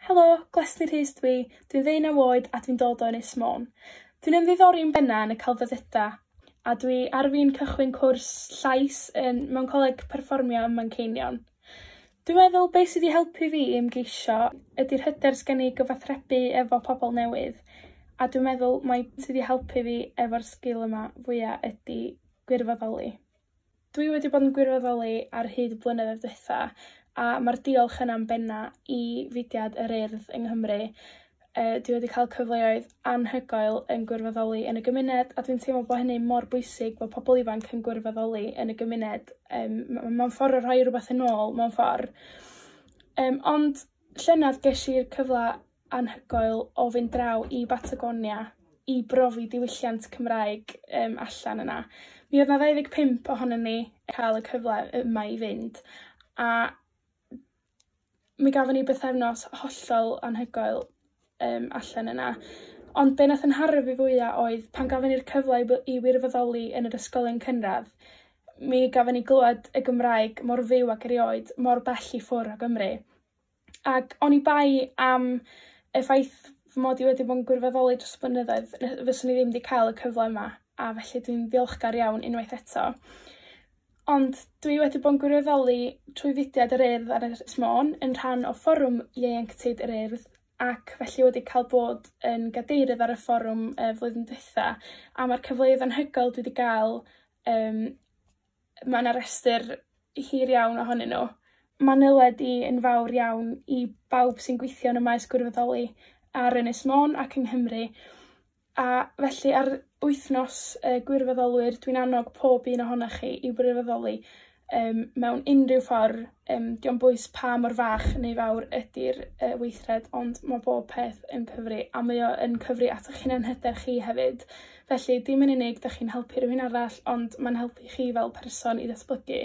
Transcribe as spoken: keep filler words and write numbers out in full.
Helo, Glesni Rhys dwi, dwi'n ddeunaw oed a dwi'n dod o Ynys Môn. Dwi'n ymddiddori'n benna yn y celfyddyda, a dwi ar fin cychwyn cwrs llais yn, mewn coleg perfformio ym Manceinion. Dwi'n meddwl be' sy 'di helpu fi i ymgeisio ydi'r hyder sgen i gyfathrebu efo pobol newydd, a dwi'n meddwl mai sy 'di helpu fi efo'r sgil yma fwya ydi gwirfoddoli. Dwi wedi bod yn gwirfoddoli ar hyd y blynyddoedd dwytha, a ma'r diolch yna'n benna i fudiad yr Urdd yng Nghymru. Yy, dwi wedi cael cyfleoedd anhygoel yn gwirfoddoli yn y gymuned, a dwi'n teimlo bo' hynny mor bwysig bo' pobol ifanc yn gwirfoddoli yn y gymuned. Yym, ma' ma'n ffor o rhoi rwbath yn ôl mewn ffor. Yym, ond llynadd gesh i'r cyfla anhygoel o fynd draw i Batagonia i brofi diwylliant Cymraeg, yym, allan yna. Mi oedd 'na ddau ddeg pump ohonon ni ca'l y cyfle yma i fynd, a mi gafon ni bythefnos hollol anhygoel, yym, allan yna. Ond be' nath 'yn nharo fi fwya oedd pan gafon ni'r cyfle i wi- i wirfoddoli yn yr ysgolion cynradd, mi gafon ni glwad y Gymraeg mor fyw ag erioed, mor bell i ffwr' o Gymru. Ac oni bai am y ffaith fy mod i wedi bod yn gwirfoddoli dros y blynyddoedd, ny- fyswn i ddim 'di ca'l y cyfle yma, a felly dwi'n ddiolchgar iawn unwaith eto. Ond dwi wedi bod yn gwirfoddoli trwy fudiad yr Urdd ar Ynys Môn yn rhan o fforwm ieuenctid yr Urdd, ac felly wedi cael bod yn gadeirydd ar y fforwm y flwyddyn dwytha, a ma'r cyfleoedd anhygoel dwi 'di ga'l, yym, ma' 'na restyr hir iawn ohonyn nw. Ma'n nyled i yn fawr iawn i bawb sy'n gwithio yn y maes gwirfoddoli ar Ynys Môn ac yng Nghymru, a felly ar wythnos y gwirfoddolwyr, dwi'n annog pob un ohonoch chi i wirfoddoli, yym, mewn unrhyw ffor, yym, 'di o'm bwys pa mor fach neu fawr ydi'r, yy, weithred, ond ma' bob peth yn cyfri, a mae o yn cyfri at 'ych hunanhyder chi hefyd. Felly, dim yn unig 'dach chi'n helpu rywun arall, ond ma'n helpu chi fel person i ddatblygu.